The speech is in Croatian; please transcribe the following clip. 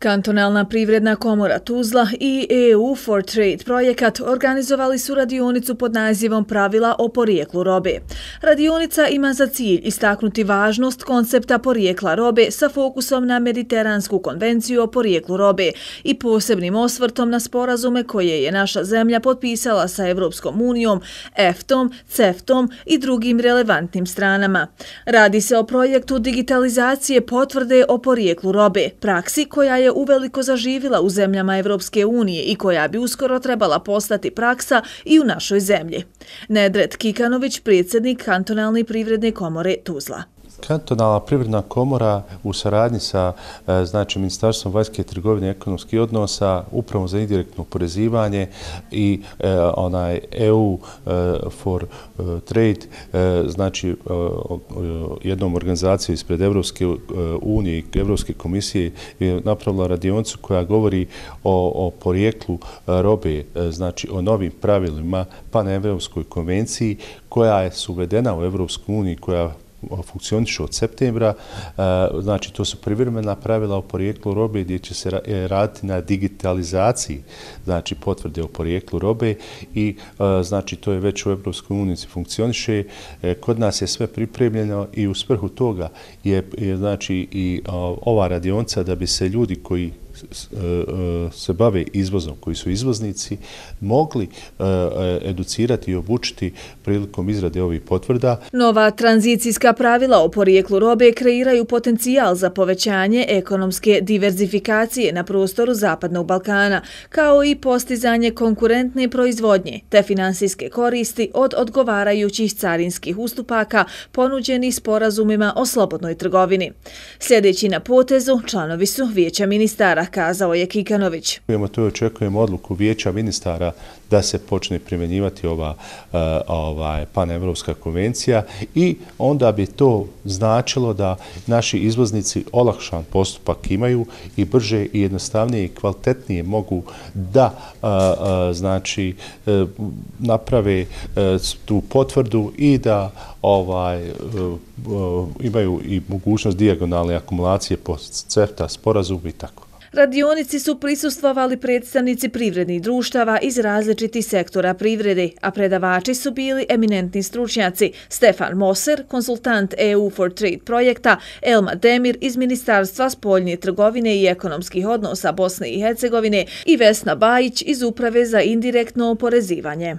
Kantonalna privredna komora Tuzla i EU for Trade projekat organizovali su radionicu pod nazivom Pravila o porijeklu robe. Radionica ima za cilj istaknuti važnost koncepta porijekla robe sa fokusom na Mediteransku konvenciju o porijeklu robe i posebnim osvrtom na sporazume koje je naša zemlja potpisala sa Evropskom unijom, EFTA-om, CEFTA-om i drugim relevantnim stranama. Radi se o projektu digitalizacije potvrde o porijeklu robe, praksi koja je uveliko zaživila u zemljama Evropske unije i koja bi uskoro trebala postati praksa i u našoj zemlji. Nedret Kikanović, predsjednik Kantonalne privredne komore Tuzla. Kantonalna privredna komora u saradnji sa Ministarstvom vanjske trgovine i ekonomskih odnosa, Upravom za indirektno oporezivanje i EU for Trade, jednom organizacijom ispred Evropske unije i Evropske komisije je napravila radionicu koja govori o porijeklu robe, o novim pravilima panevropskoj konvenciji koja je uvedena u Evropsku uniju, koja funkcioniše od septembra. To su privremena pravila o porijeklu robe gdje će se raditi na digitalizaciji potvrde o porijeklu robe i to je već u Evropskoj uniji funkcioniše. Kod nas je sve pripremljeno i u svrhu toga je i ova radionica da bi se ljudi koji se bave izvozom, koji su izvoznici, mogli educirati i obučiti prilikom izrade ovih potvrda. Nova tranzicijska pravila o porijeklu robe kreiraju potencijal za povećanje ekonomske diverzifikacije na prostoru Zapadnog Balkana, kao i postizanje konkurentne proizvodnje te finansijske koristi od odgovarajućih carinskih ustupaka ponuđenih sporazumima o slobodnoj trgovini. Sljedeći na potezu članovi su Vijeća ministara, kazao je Kikanović. To očekujemo odluku Vijeća ministara da se počne primjenjivati ova panevropska konvencija i onda bi to značilo da naši izvoznici olakšan postupak imaju i brže i jednostavnije i kvalitetnije mogu da naprave tu potvrdu i da imaju i mogućnost dijagonalne akumulacije po CEFTA sporazumu i tako. Radionici su prisustvovali predstavnici privrednih društava iz različitih sektora privrede, a predavači su bili eminentni stručnjaci Stefan Moser, konsultant EU for Trade projekta, Elma Demir iz Ministarstva spoljne trgovine i ekonomskih odnosa Bosne i Hercegovine i Vesna Bajić iz Uprave za indirektno oporezivanje.